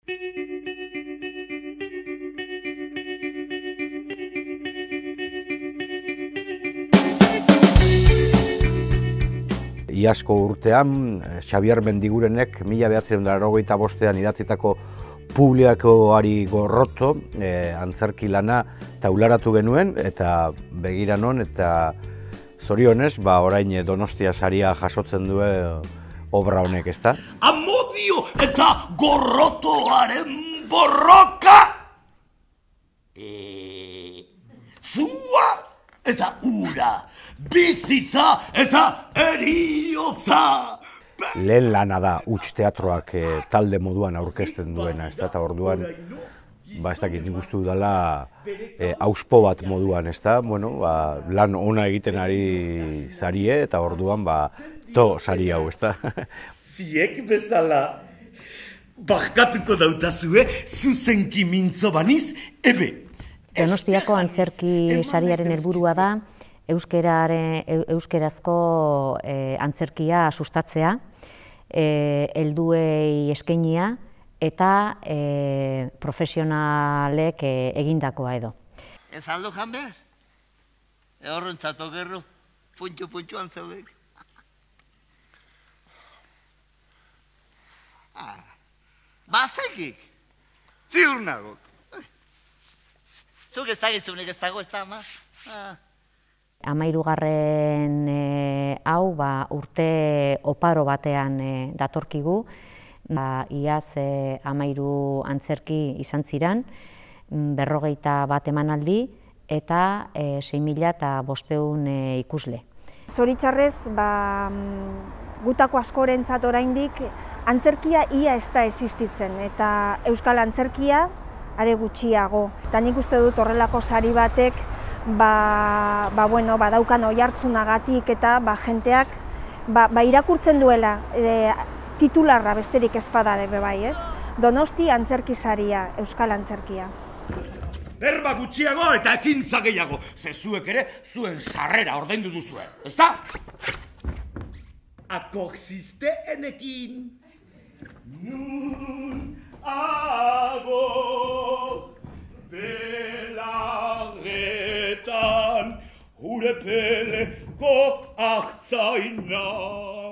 Iazko urtean, Xabier Mendigurenek 1985 idatzitako Publikoari gorroto antzerki lana taularatu genuen, eta begira non, eta zorionez, orain Donostia saria jasotzen du obra honek, ezta? Amodio eta gorrotoaren borroka! Zua eta ura, bizitza eta eriotza! Lehen lana da huts teatroak talde moduan aurkezten duena, ezta? Eta orduan, ez dakit, nik uste dudala auspo bat moduan, ezta? Bueno, lan ona egiten ari zarie, eta orduan, to sari hau, ezta? Ziek bezala, barkatuko dautazue, zuzenki mintzo baniz, ebe. Donostiako antzerki sariaren helburua da euskerazko antzerkia sustatzea, helduei eskainia eta profesionalek egindakoa edo. Ez aldo jan behar? Horrentzat okerro, puntxo-puntxoan zaudek. Bazekik, ziur nago. Zuk ez da gizunik ez dago ez da, ama. 13. hau urte oparo batean datorkigu. Iaz 13 antzerki izan ziren, 41 emanaldi eta 6.500 ikusle. Zoritxarrez, gutako askorentzat oraindik antzerkia ia ez da existitzen, eta euskal antzerkia are gutxiago. Eta nik uste dut horrelako sari batek daukan oihartzunagatik eta jenteak irakurtzen duela titularra besterik ez badare bai, ez? Donosti antzerki saria, euskal antzerkia. Berba gutxiago eta ekintza gehiago, ze zuek ere zuen sarrera ordaindu duzue, ezta? Akoxisteenekin. Nun ago belarretan urepeleko ahtzaina.